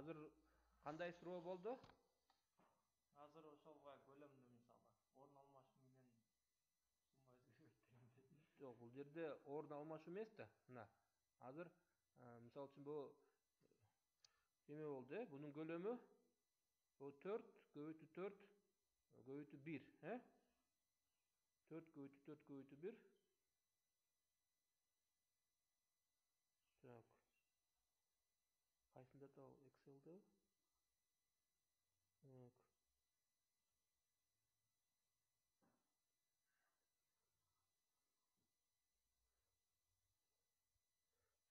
азыр кандай суроо болду? Азыр ошолго көлөмдү мисалы орун алмашуу менен сумма өзгөрбөйт дегенде. Жок, бул жерде орун алмашуу эмес да. Мына азыр мисалы үчүн бул эме болду, бунун көлөмү бул 4 көбөйтүү 4 көбөйтүү 1, 4 көбөйтүү 4 көбөйтүү 1. Так. Кайсында да Excel'de? Так.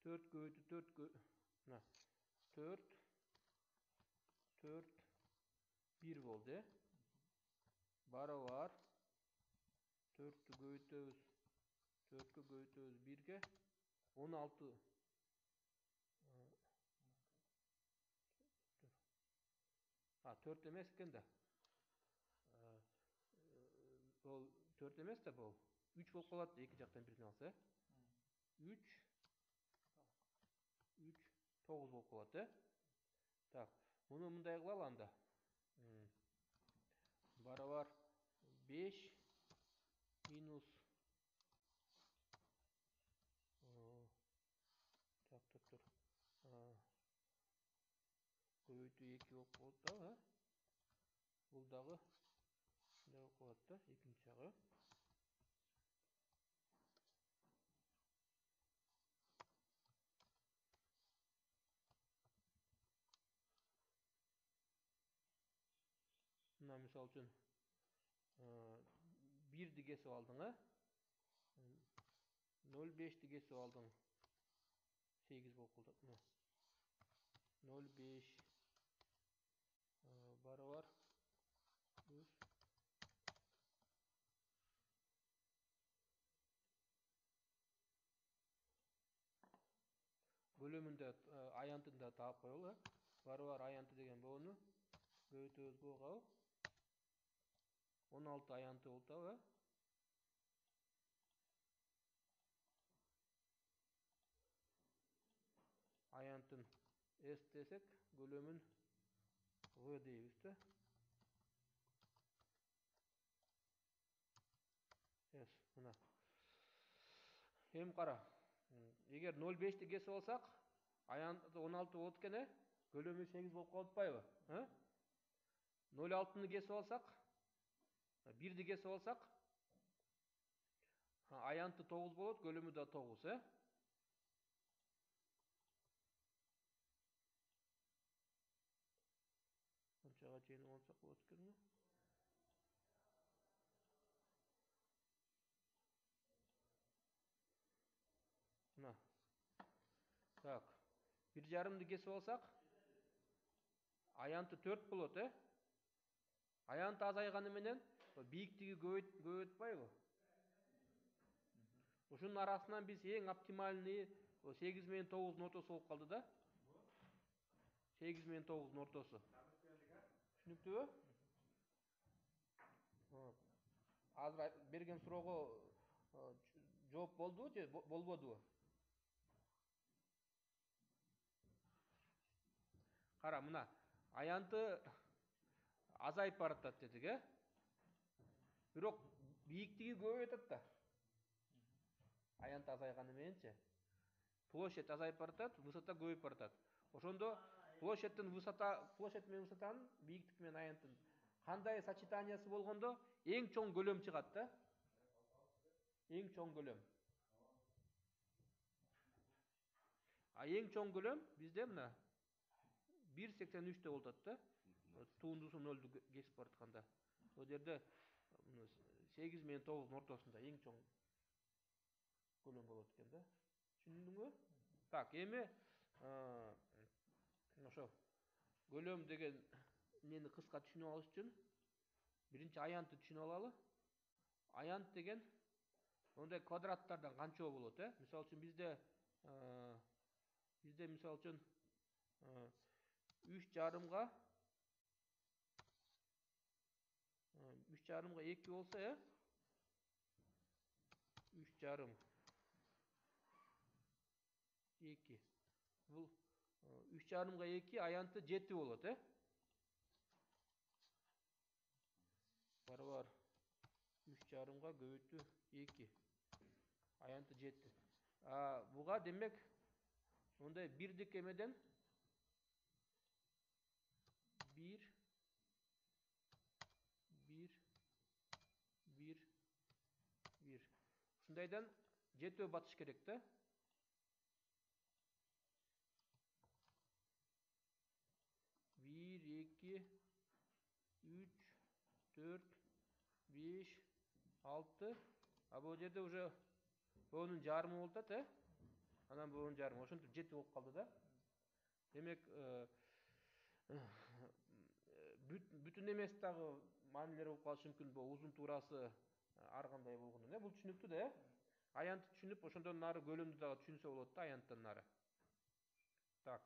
4 көбөйтүү 4 мына 4 1 болду, Барабар 4 көбөйтөбүз 4 көбөйтөбүз 1-ге 16. 4 эмес экен да. Бул 4 эмес да, бул 3 болуп калат, эки жактан бирин алса. 3 9 болуп калат, Так, муну мындай кылалы анда. Барабар 5 минус тур. Көбөйтүү 2 болуп калат да, бул дагы мындай болуп калат да, экинчи жагы. Мына мисалы үчүн 1-ди кесип алдың, 0,5-ди кесип алдың, 8 болуп калат. 0,5 барабар плюс көлөмүндө аянтын да таап коелу. Барабар аянты деген боону көбөйтөбүз буга. 16 аянты болду, Аянтын S десек, көлөмүн V дейбиз да. S, мына. Эми кара. Эгер 0,5-ти кесип алсак, аянты 16 болот экен, көлөмү 8 болуп калып атпайбы? 0,6-ны кесип алсак, 1-ди кесип алсак, аянты 9 болот, көлөмү да 9, Канчага чейин алсак болот экен? Мына. Так. 1,5-ды кесип алсак, аянты 4 болот, Аянты азайганы менен бийиктиги көбөйтпайбы? Ушунун арасынан биз эң оптимальный 8 менен 9-дун ортосу болуп калды да. 8 менен 9-дун ортосу. Түшүнүктүүбү? Азыр берген суроого жооп болдубу же болбодубу? Кара, мына аянты азайып баратат дедик, Бирок бийиктиги көбөйүп атат да. Аянты азайганы мененчи. Площадь азайып баратат, высота көбөйүп баратат. Ошондо площадь менен высотанын, бийиктик менен аянттын кандай сочетаниясы болгондо эң чоң көлөм чыгат да. Эң чоң көлөм. Эң чоң көлөм бизде мына 1,83 болуп атат да. Туундусу 0-ду кесип баратканда. Бул жерде 8 менен 9-дун ортосунда эң чоң көлөм болот экен да. Түшүндүңбү? Так, эми ошо көлөм деген эмнени кыска түшүнүп алыш үчүн биринчи аянтты түшүнүп алалы. Аянт деген ондай квадраттардан канчоо болот, Мисалы үчүн бизде мисалы үчүн 3,5-га 2 болсо, 3,5 2. Бул 3,5 2 аянты 7 болот, Бар. 3,5 көбүйтүү 2. Аянты 7. Буга демек мындай бирдик эмеден 1 ушундайдан 7 батыш керек да. 1 2 3 4 5 6. Бул жерде уже боонун жарымы болуп атат, Анан боонун жарымы ошентип 7 болуп калды да. Демек бүтүн эмес дагы маанилер болуп калышы мүмкүн. Бул узун туурасы ар кандай болгондон. Бул түшүнүктүү да, Аянтты түшүнүп, ошондон нары көлөмдү дагы түшүнсө болот да, аянттан нары. Так.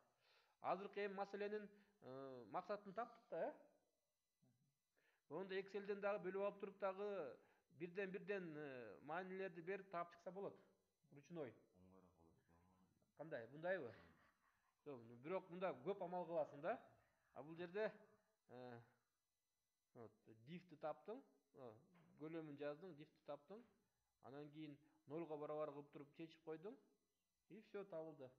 Азыркы эми маселенин максатын таптык да, Ондо Excel'ден дагы бөлүп алып туруп дагы бирден маанилерди берип таап чыкса болот. Ручной. Кандай? Бундайбы? Бирок мында көп амал кыласың да. Бул жерде diff'ти таптың, көлөмүн жаздың, diff'ти таптың. Анан кийин 0га барабар кылып туруп чечип койдуң. И все, табылды.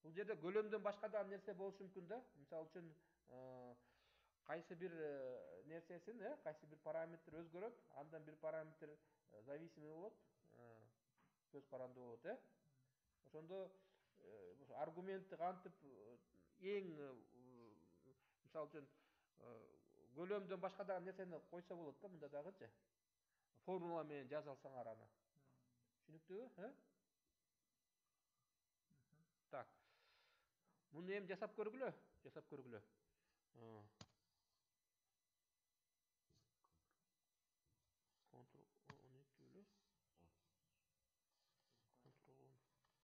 Бул жерде көлөмдөн башка да нерсе болушу мүмкүн да. Мисалы үчүн кайсы бир нерсесин, кайсы бир параметр өзгөрөт, андан бир параметр зависимый болот, көз карандуу болот, Ошондо аргументти кантип эң мисалы үчүн көлөмдөн башка дагы нерсени койсо болот да, мында дагычы. Формула менен жаза алсаңар аны. Түшүнүктүүбү? Так. Муну эми жасап көргүлө.